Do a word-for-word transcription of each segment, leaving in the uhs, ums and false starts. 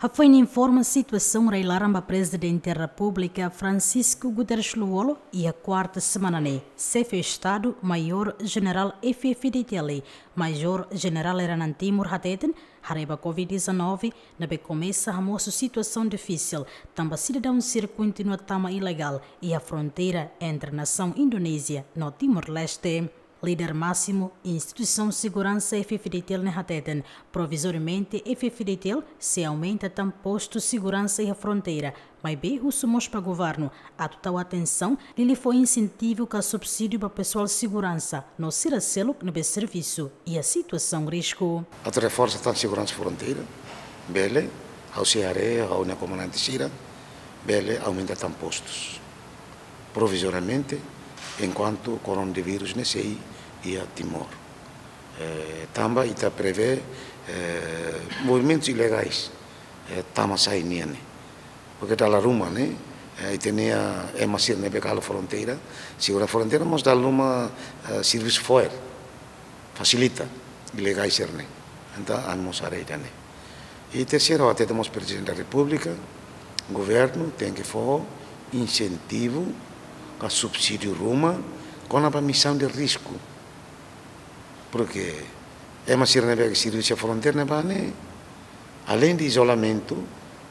Hafoin informa situasaun rai-laran ba Prezidente Repúblika Francisco Guterres Lú-Olo iha kuarta semana ne'e, Xefe Estadu Maiór Jenerál F-FDTL, Maiór Jenerál Hernán Timur hateten, haree ba Covid dezanove ne'ebé komesa hamosu situasaun difisil, tanba sidadaun sira kontinua tama ilegál iha fronteira entre nasaun Indonézia no Timor-Leste. Líder másimu instituisaun seguransa F-FDTL ne'e hateten, provizoriamente F-FDTL sei aumenta tan postu seguransa iha fronteira, maibé husu mós ba governu atu tau atensaun, liuliu fó insentivu ka subsídiu ba pesoál seguransa no sira seluk ne'ebé servisu iha situasaun risku. Atu reforsa tan seguransa fronteira, bele, ha'u sei haree, ha'u-nia komandante sira, bele aumenta tan postus. Provizoriamente, enkuantu koronavírus ne'e sei iha Timor. Eh, tanba ita prevee, eh, movimentus ilegais, eh, tama sai nian ne'e. Porke dala ruma ne'e, eh, ita-nia ema sira ne'ebé halo fronteira, segura fronteira, mas dala ruma, eh, servisu fo'er, fasilita ilegais sira-ne'e. Entaun, ami mós haree ida-ne'e. I terseiro, hatete mós Prezidente da Repúblika, governu tenke fó insentivu ka subsídiu ruma kona-ba misaun de risku. Porke ema sira ne'ebé servisu iha fronteira ne'ebá ne'e, além de izolamentu,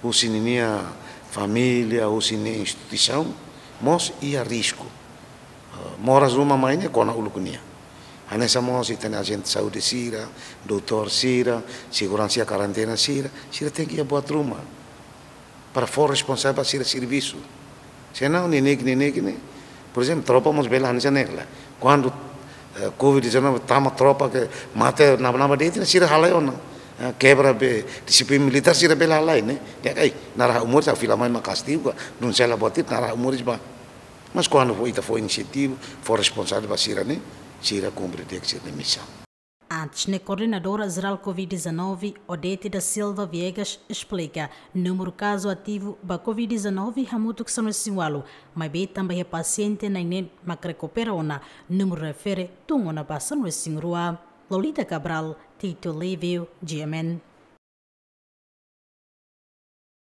husi ninia família, husi ninia instituisaun, mós iha risku. Eh, moras ruma mai ne'e kona uluk nian. Hanesan mós ita-nia ajente saúde sira, doutór sira, seguransa iha karentena sira, sira tenke iha buat ruma para fó responsavel ba sira servisu. Senão, neineik, neineik ne'e, por ezemplu, tropa mós bele hanesan ne'e la. Kuandu, eh, Covid dezanove tama, tropa ke mate naba-naba de'it ne'e, sira halai ona. Eh, kebra be, dixiplina militár sira bele halai ne'e. Di'ak, ai, naran ha'u moris, ha'u fila mai mak kastigu ka, nune'e sei la buat ida, naran ha'u moris ba. Mas kuandu fó, ita fó insentivu, fó responsavel ba sira ne'e, sira kumpre di'ak sira-nia misaun. Antes ne'e, Koordenadora Jerál Covid dezanove, Odete da Silva Viegas, esplika, númeru kazu ativu ba Covid dezanove hamutuk sanulu-resin-ualu, maibé tanba iha pasiente na'in-neen mak rekupera ona, númeru refere tun ona ba sanulu-resin-rua. Lolita Cabral, Tito Livio, G M N.